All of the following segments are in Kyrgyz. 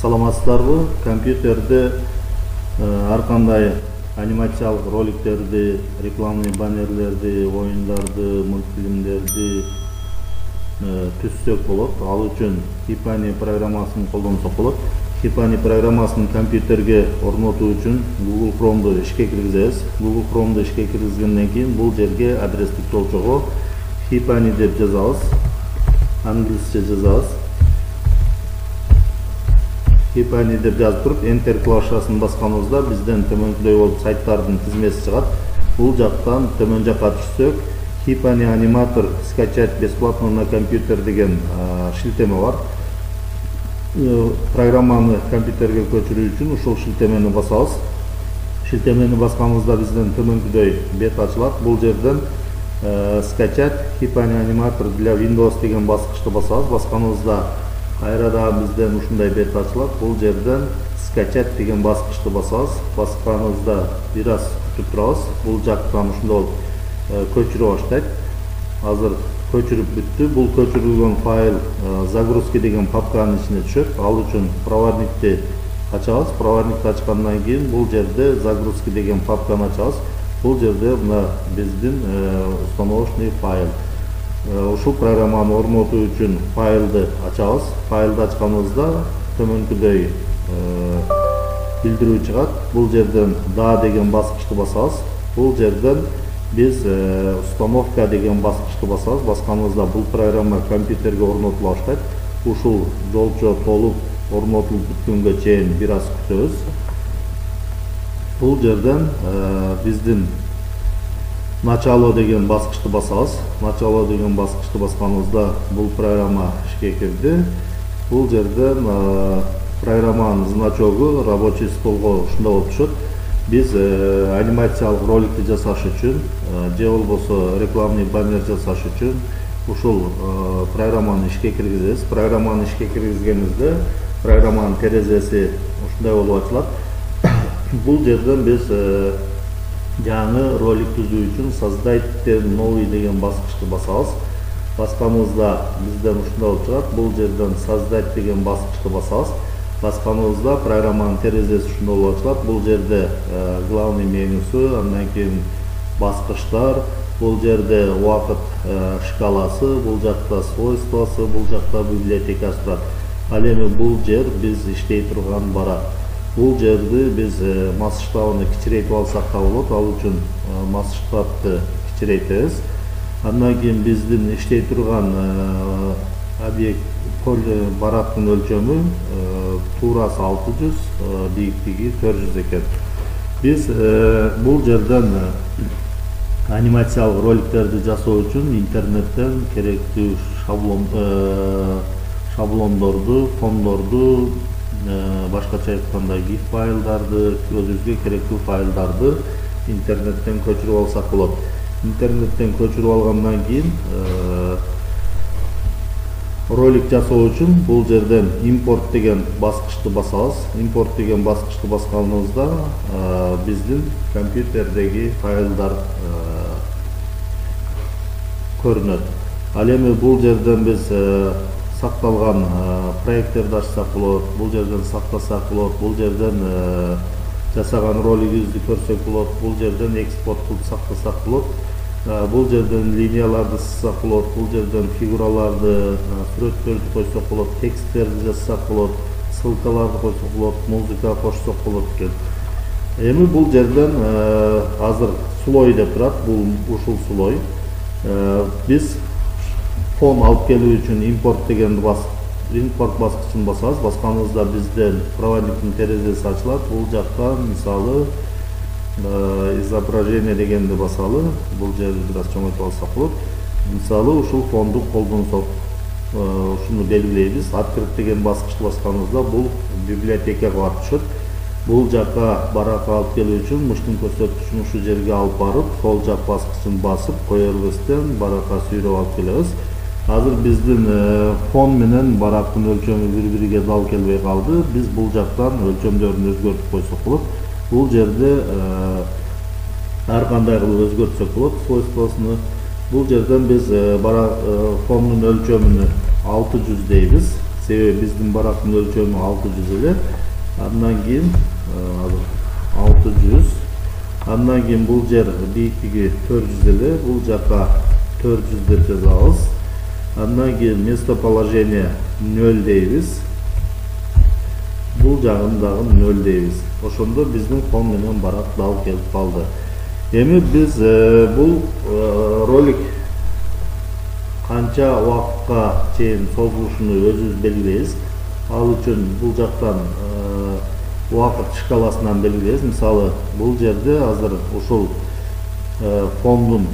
Саламатсыздарбы? Компьютерде ар кандай анимациялык роликтерди, рекламный баннерлерди, оюндарды, мультфильмдерди түзсөк болот. Ал үчүн Hipani программасын колдонсок болот. Hipani программасын компьютерге орнотуу үчүн Google Chrome'ду ишке киргизебиз. Google Chrome'ду ишке киргизгенден кийин бул жерге адрестик жолчого Hipani деп жазабыз. Англисче жазабыз. Hipani деп жазып туруп Enter клавишасын басканыбызда бизден төмөнкүдөй болуп сайттардын тизмеси чыгат. Бул жактан төмөн жакка түшсөк, Hipani аниматор скачать бесплатно на компьютер деген шилтеме бар. Программаны компьютерге көчүрүү үчүн ушул шилтемени басабыз. Шилтемени басканыбызда бизден төмөнкүдөй бет ачылат. Бул жерден скачать Hipani аниматор для Windows деген баскычты басабыз. Басканыбызда кайра дагы бизден ушундай бет ачылат. Бул жерден скачать деген баскычты басабыз. Басканыбызда бир аз күтүп турабыз. Бул жактан ушундай болуп көчүрө баштайт. Азыр көчүрүп бүттү. Бул көчүрүлгөн файл загрузки деген папканын ичине түшөт. Ал үчүн проводникти ачабыз. Проводникти ачкандан кийин бул жерде загрузки деген папканы ачабыз. Бул жерде мына биздин установочный файл. Ушул программаны орнотуу үчүн файлды ачабыз. Файлды ачканыбызда төмөнкүдөй билдирүү чыгат. Бул жерден да деген баскычты басабыз. Бул жерден биз установка деген баскычты басабыз. Басканыбызда бул программа компьютерге орнотула баштайт. Ушул жолчо толуп орнотулуп бүткөнгө чейин бир аз күтөбүз. Бул жерден биздин начало деген баскычты басабыз. Начало деген баскычты басканыбызда бул программа ишке кирди. Бул жерден программанын значогу рабочий столго ушундай болуп түшөт. Биз анимациялык роликти жасаш үчүн же болбосо рекламный баннер жасаш үчүн ушул программаны ишке киргизебиз. Программаны ишке киргизгенибизде программанын терезеси ушундай болуп ачылат. Бул жерден биз жаңы ролик түзүү үчүн создать новый деген баскычты басабыз. Басканыбызда бизден ушундай болуп чыгат. Бул жерден создать деген баскычты басабыз. Басканыбызда программанын терезеси ушундай болуп ачылат. Бул жерде главный менюсу, андан кийин баскычтар, бул жерде убакыт шкаласы, бул жакта свойствосы, бул жакта библиотекасы турат. Ал эми бул жер биз иштей турган барак. Бул жерди биз масштабын кичирейтип алсак да болот. Ал үчүн масштабты кичирейтебиз. Андан кийин биздин иштей турган объект барактын өлчөмү туурасы 600, бийиктиги 400 экен. Биз бул жерден анимациялык роликтерди жасоо үчүн интернеттен керектүү шаблондорду, фондорду, башкача айтканда GIF файлдарды, өзүбүзгө керектүү файлдарды интернеттен көчүрүп алсак болот. Интернеттен көчүрүп алгандан кийин ролик жасоо үчүн бул жерден импорт деген баскычты басабыз. Импорт деген баскычты басканыбызда биздин компьютердеги файлдар көрүнөт. Ал эми бул жерден биз сакталган проекттерди ачсак болот, бул жерден сактасак болот, бул жерден жасаган ролигибизди көрсөк болот, бул жерден экспорт кылып сактасак болот. Бул жерден линияларды сызсак болот, бул жерден фигураларды, сүрөттөрдү койсок болот, тексттерди жазсак болот, ссылкаларды койсок болот, музыка кошсок болот экен. Эми бул жерден азыр слой деп турат, бул ушул слой. Биз фон алып келүү үчүн импорт деген импорт баскычын басабыз. Басканыбызда бизден проводниктин терезеси ачылат. Бул жактан мисалы изображение дегенди басалы. Бул жерди бир аз чоңойтуп алсак болот. Мисалы ушул фонду колдонсок, ушуну белгилейбиз. Открыть деген баскычты басканыбызда бул библиотекага барып түшөт. Бул жакка баракка алып келүү үчүн мыштын көрсөткүчүн ушул жерге алып барып, сол жак баскычын басып кое бербестен баракка сүйрөп алып келебиз. Азыр биздин фон менен барактын өлчөмү бири-бириге дал келбей калды. Биз бул жактан өлчөмдөрүн өзгөртүп койсок болот. Бул жерде ар кандай кылып өзгөртсөк болот свойствосуну. Бул жерден биз фондун өлчөмүнү 600 дейбиз. себеби биздин барактын өлчөмү 600 эле. Андан кийин 600. Андан кийин бул жер бийиктиги 400 эле. Бул жака 400 деп жазабыз. Андан кийин местоположение 0 дейбиз. Бул жагын дагы 0 дейбиз. Ошондо биздин фон менен барак дал келип калды. Эми биз бул ролик канча убакытка чейин созулушуну өзүбүз белгилейбиз. Ал үчүн бул жактан убакыт шкаласынан белгилейбиз. Мисалы, бул жерде азыр ушул фондун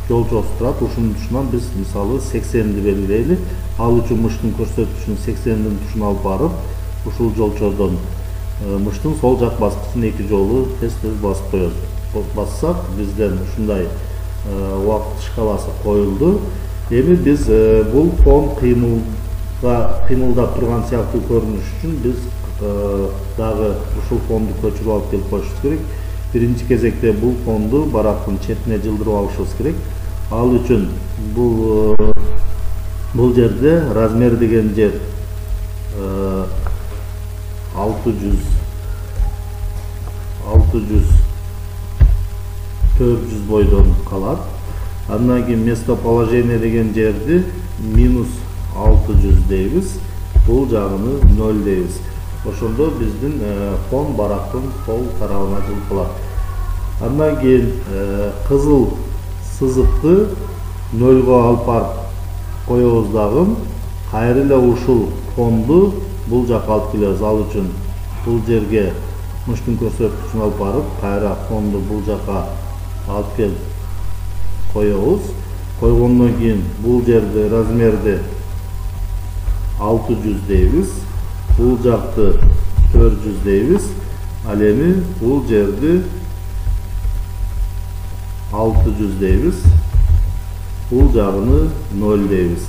жолчосу турат. Ушунун тушунан биз мисалы 80ди белгилейли. Ал үчүн мыштын көрсөткүчүн 80дин тушуна алып барып, ушул жолчодон мыштын сол жак баскычын 2 жолу тез-тез басып коебуз. Бассак, бизден ушундай убакыт шкаласы коюлду. Эми биз бул фон кыймылдап турган сыяктуу көрүнүш үчүн биз дагы ушул фонду көчүрүп алып келип коюшубуз керек. Биринчи кезекте бул фонду барактын четине жылдырып алышыбыз керек. Ал үчүн бул жерде размер деген жер 600 400 бойдон калат. Андан кийин местоположение деген жерди -600 дейбиз. Бул жагыны 0 дейбиз. Ошондо биздин фон барактын сол тарабына жылып калат. Андан кийин кызыл сызыкты 0го алып барып коебуз дагы. Кайра эле ушул фонду бул жакка алып келебиз. Ал үчүн бул жерге мыштын көрсөткүчүн алып барып, кайра фонду бул жакка алып келип коебуз. Койгондон кийин бул жерде размерди 600 дейбиз. Бул жакты 400 дейбиз. Ал эми бул жерди 600 дейбиз. Бул жагыны 0 дейбиз.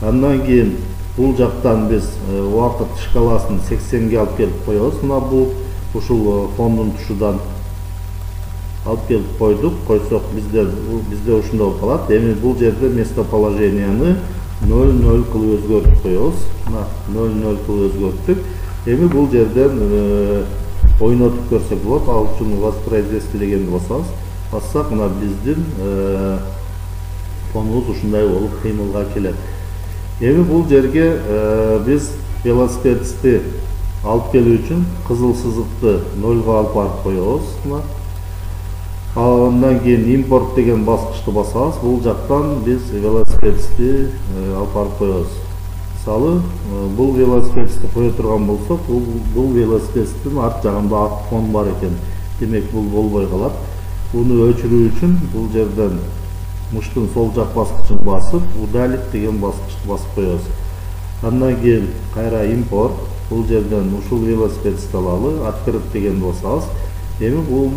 Андан кийин бул жактан биз убакыт шкаласын 80ге алып келип коебуз. Мына бул ушул фондун тушудан алып келип койдук. Койсок бизде ушундай болуп калат. Эми бул жерде местоположенияны 0 кылып өзгөртүп коебуз. Мына 0 кылып өзгөрттүк. Эми бул жерден ойнотуп көрсөк болот. Ал үчүн воспроизвести дегенди басабыз. Бассак, мына биздин фонубуз ушундай болуп кыймылга келет. Эми бул жерге биз велосипедисти алып келүү үчүн кызыл сызыкты 0го алып барып коебуз. Андан кийин импорт деген баскычты басабыз. Бул жактан биз велосипедисти алып барып коебуз. Мисалы, бул велосипедисти кое турган болсок, бул велосипедистин арт жагында ак фон бар экен. Демек, бул болбой калат. Буну өчүрүү үчүн бул жерден мыштын сол жак баскычын басып, удалить деген баскычты басып коебуз. Андан кийин кайра импорт, бул жерден ушул велосипедисти алалы, открыть дегенди басабыз. Эми бул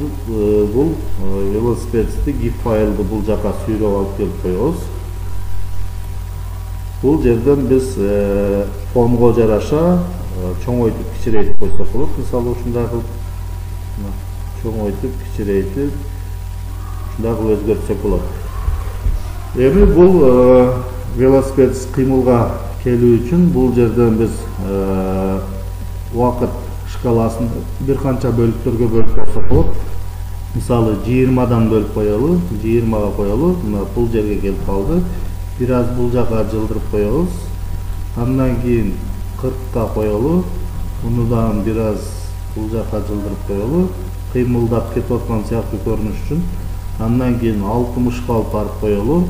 велосипедисти GIF файлды бул жака сүйрөп алып келип коебуз. Бул жерден биз фонго жараша чоңойтуп кичирейтип койсок болот. Мисалы, ушундай кылып чоңойтуп кичирейтип ушундай кылып өзгөртсөк болот. Эми бул велосипедист кыймылга келүү үчүн бул жерден биз убакыт шкаласын бир канча бөлүктөргө бөлүп койсок болот. Мисалы, 20дан бөлүп коелу, 20га коелу. Мына бул жерге келип калды. Бир аз бул жака жылдырып коебуз. Андан кийин 40ка коелу. Муну дагы бир аз бул жака жылдырып коелу. Кыймылдап кетип аткан сыяктуу көрүнүш үчүн. Андан кийин 60ка алып барып коелу.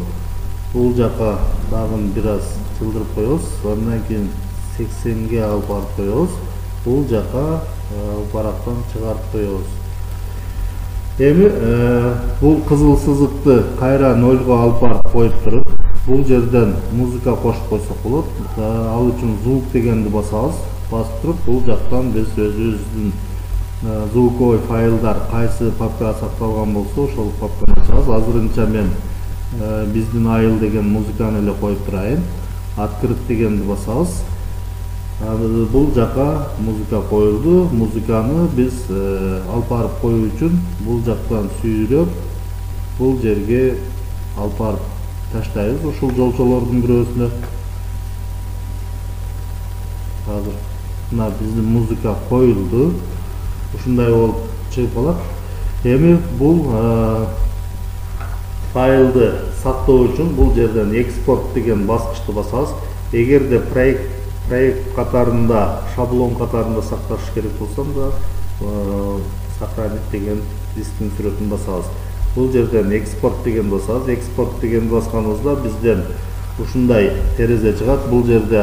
Бул жака дагы бир аз жылдырып коебуз. Андан кийин 80ге алып барып коебуз. Бул жака барактан чыгарып коебуз. Эми бул кызыл сызыкты кайра 0го алып барып коюп туруп, бул жерден музыка кошуп койсок болот. Ал үчүн звук дегенди басабыз. Басып туруп, бул жактан биз өзүбүздүн звуковой файлдар кайсы папкага сакталган болсо, ошол папканы ачабыз. Азырынча мен биздин айыл деген музыканы эле коюп турайын. Открыть дегенди басабыз. Бул жака музыка коюлду. Музыканы биз алып барып коюу үчүн бул жактан сүйрөп, бул жерге алып барып таштайбыз. Ушул жолчолордун бирөөсүнө азыр мына биздин музыка коюлду. Ушундай болуп чыгып калат. Эми бул файлды сактоо үчүн бул жерден экспорт деген баскычты басабыз. Эгерде проект катарында, шаблон катарында сакташ керек болсо да сохранить деген дисктин сүрөтүн басабыз. Бул жерден экспорт деген басабыз. Экспорт деген басканыбызда бизден ушундай терезе чыгат. Бул жерде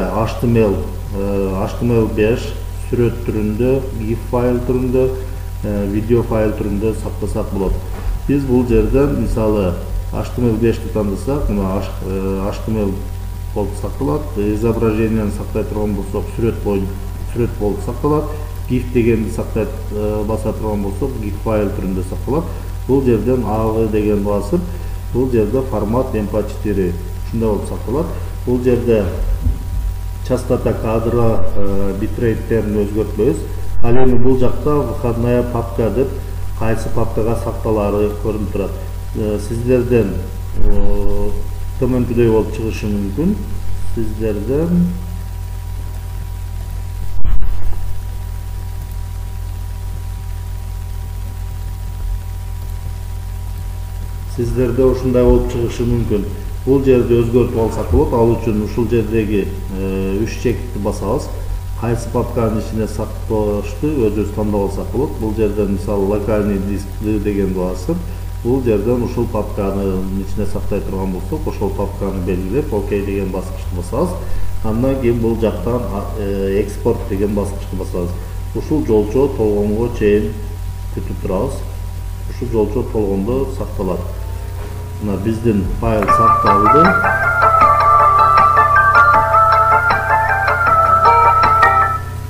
HTML5 сүрөт түрүндө, GIF файл түрүндө, видео файл түрүндө сактасак болот. Биз бул жерден мисалы HTML5-ти тандасак, мына HTML болуп сакталат. Изображенияны сактай турган болсок, сүрөт болуп сакталат. GIF дегенди сактай баса турган болсок, GIF файл түрүндө сакталат. Бул жерден AV деген басып, бул жерде формат MP4 ушундай болуп сакталат. Бул жерде частота кадра, битрейtтерин өзгөртпөйбүз. Ал эми бул жакта выходная папка деп кайсы папкага сакталары көрүнүп турат. Сиздерден төмөнкүдөй болуп чыгышы мүмкүн. Сиздерде ушундай болуп чыгышы мүмкүн. Бул жерди өзгөртүп алсак болот. Ал үчүн ушул жердеги 3 чекитти басабыз. Кайсы папканын ичине сакташты өзүбүз тандап алсак болот. Бул жерден мисалы локальный диск дегенди басып, бул жерден ушул папканын ичине сактай турган болсок, ошол папканы белгилеп, ОК деген баскычты басабыз. Андан кийин бул жактан экспорт деген баскычты басабыз. Ушул жолчо толгонго чейин күтүп турабыз. Ушул жолчо толгондо сакталат. Мына биздин файл сакталды.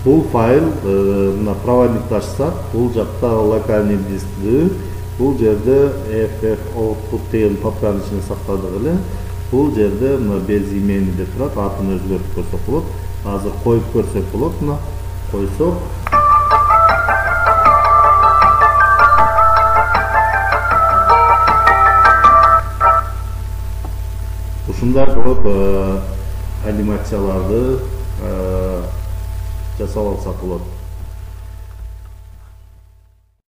Бул файл мына проводникти ачсак, бул жакта локальный дискти, бул жерде FF-output деген папканын ичине сактадык эле. Бул жерде мына без имени деп турат, атын өзгөртүп көрсөк болот. Азыр коюп көрсөк болот, мына койсок. Ушундай болуп анимацияларды жасап алсак болот.